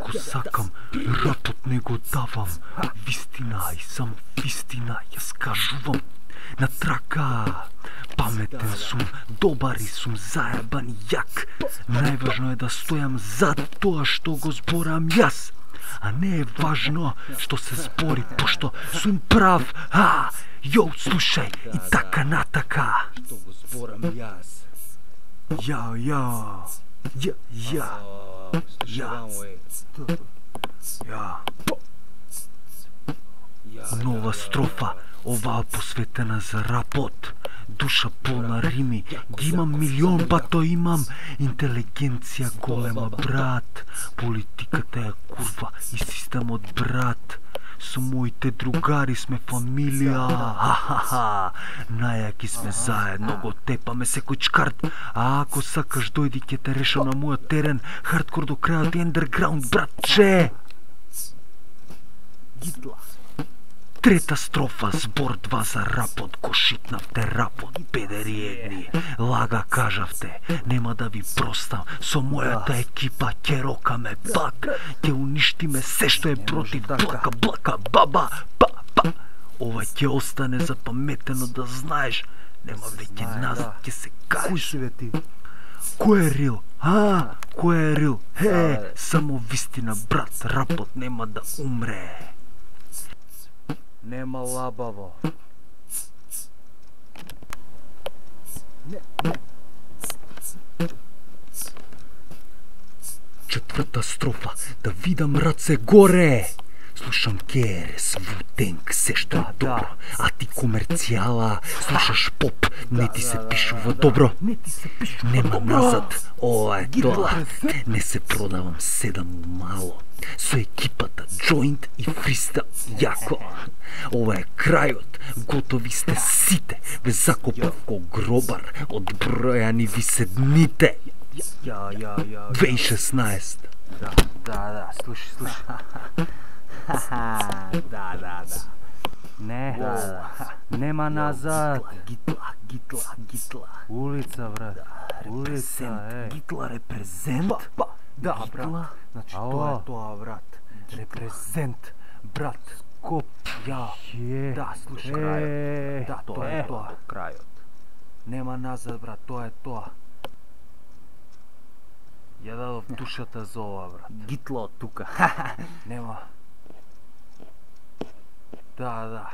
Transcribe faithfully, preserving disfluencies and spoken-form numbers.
Ако сакам, рапот не го давам. Вистина и само вистина ја скажувам. На трака, паметен сум, добар и сум заебан и јак. Најважно е да стојам зад тоа што го зборам јас. А не е важно што се збори, пошто сум прав. А, јо, слушај, и така натака. Што го зборам јас. Ја, ја, ја, ја, ја, ја. Нова строфа, оваа посветена за рапот. Душа полна рими, ги имам милион, бато имам интелигенција голема, брат. Политиката е курва и системот, брат. Со моите другари сме фамилија. Ха-ха-ха. Најаки сме заедно, го тепаме секој чкарт. А ако сакаш дојди ќе те решам на мојот терен. Хардкор до крајот и ендерграунд, братче. Гитла. Трета строфа, збор два за рапот, го шипнавте рапот, педери едни. Лага кажавте, нема да ви простам, со мојата екипа ќе рокаме пак, ќе уништиме се што е против, блака, блака, баба, па, па. Ова ќе остане запаметено, да знаеш, нема веќе назад, ќе се кажеш. Кој си бе ти? Кој е рил? А, кој е рил? Е, само вистина, брат, рапот нема да умре. Нема лабаво. Четврта строфа, да видам раце горе. Слушам Керес, Вутенг, се што е добро. А ти комерцијала, слушаш поп, не ти се пишува добро. Не ти се пишува Нема добро. назад, ова е тоа. Не се продавам седам мало. Со екипата Joint и Фристайл, јако. Ова е крајот, готови сте сите. Ве закопав ко гробар, одбројани ви се дните. Ја, ја, ја. две тисучи и шеснаесет. Да, да, да, слушай, слушай. Да, да, да. Не, нема назад. Гитла, гитла, гитла. Улица, брат. Улица, е. Гитла репрезент. Да, Гитла? брат. Значи, Ало. тоа е тоа, брат. Репрезент, брат. Коп, ја. Е. Да, слушай, Е. крајот. Да, тоа е Е. тоа, крајот. Нема назад, брат, тоа е тоа. Ја дадов душата за ова, брат. Гитла од тука. Нема. Да, да.